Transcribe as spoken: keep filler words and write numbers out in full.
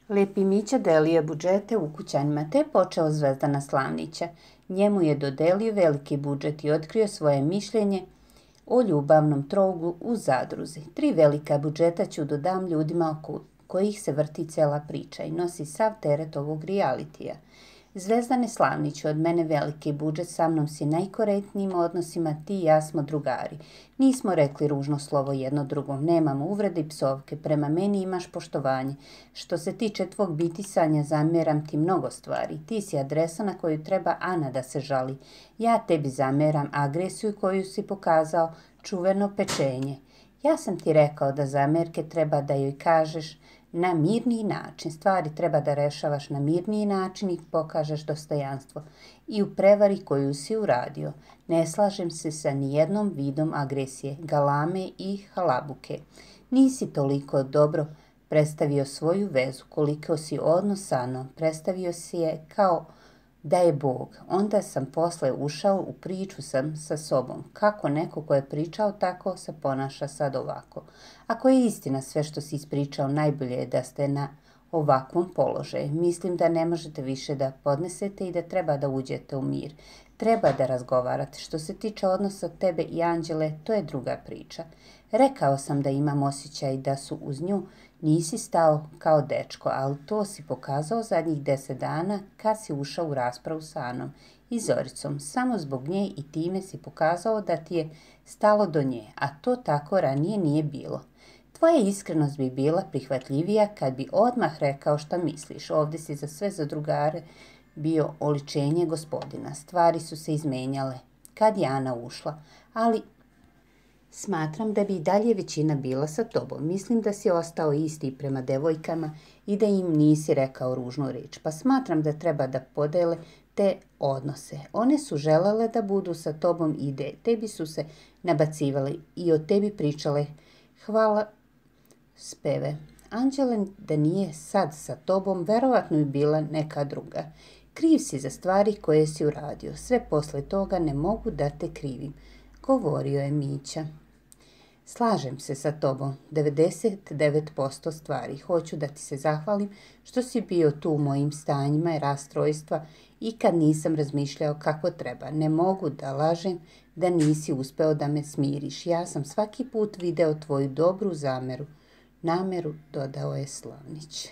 Lepi Mića delio budžete ukućanima, te je počeo Zvezdana Slavnića. Njemu je dodelio veliki budžet i otkrio svoje mišljenje o ljubavnom trouglu u zadruzi. Tri velika budžeta ću dodam ljudima oko kojih se vrti cela priča i nosi sav teret ovog realitija. Zvezdane Slavniću, od mene veliki budžet, sa mnom si najkorektnijim odnosima, ti i ja smo drugari. Nismo rekli ružno slovo jedno drugom, nemamo uvrede i psovke, prema meni imaš poštovanje. Što se tiče tvog bitisanja, zamjeram ti mnogo stvari. Ti si adresa na koju treba Ana da se žali. Ja tebi zamjeram agresiju koju si pokazao, čuveno pečenje. Ja sam ti rekao da zamjerke treba da joj kažeš na mirniji način. Stvari treba da rešavaš na mirniji način i pokažeš dostojanstvo. I u prevari koju si uradio. Ne slažem se sa nijednom vidom agresije, galame i halabuke. Nisi toliko dobro predstavio svoju vezu, koliko si odnos sa Anom. Predstavio si je kao da je Bog. Onda sam posle ušao u priču sam sa sobom. Kako neko ko je pričao tako se ponaša sad ovako. Ako je istina sve što si ispričao, najbolje je da ste na ovakvom položaju. Mislim da ne možete više da podnesete i da treba da uđete u mir. Treba da razgovarate. Što se tiče odnosa tebe i Anđele, to je druga priča. Rekao sam da imam osjećaj da su uz nju, nisi stao kao dečko, ali to si pokazao zadnjih deset dana kad si ušao u raspravu sa Anom i Zoricom. Samo zbog nje i time si pokazao da ti je stalo do nje, a to tako ranije nije bilo. Tvoja iskrenost bi bila prihvatljivija kad bi odmah rekao šta misliš. Ovdje si za sve za drugare bio oličenje gospodina. Stvari su se izmenjale kad je Ana ušla, ali smatram da bi i dalje većina bila sa tobom. Mislim da si ostao isti prema devojkama i da im nisi rekao ružnu reč, pa smatram da treba da podele te odnose. One su želele da budu sa tobom i ide. Tebi su se nabacivale i o tebi pričale hvala speve. Anđele da nije sad sa tobom, verovatno bi bila neka druga. Kriv si za stvari koje si uradio. Sve posle toga ne mogu da te krivim, govorio je Mića. Slažem se sa tobom, devedeset devet posto stvari. Hoću da ti se zahvalim što si bio tu u mojim stanjima i rastrojstva i kad nisam razmišljao kako treba. Ne mogu da lažem da nisi uspeo da me smiriš. Ja sam svaki put video tvoju dobru zameru. Nameru, dodao je Slavnić.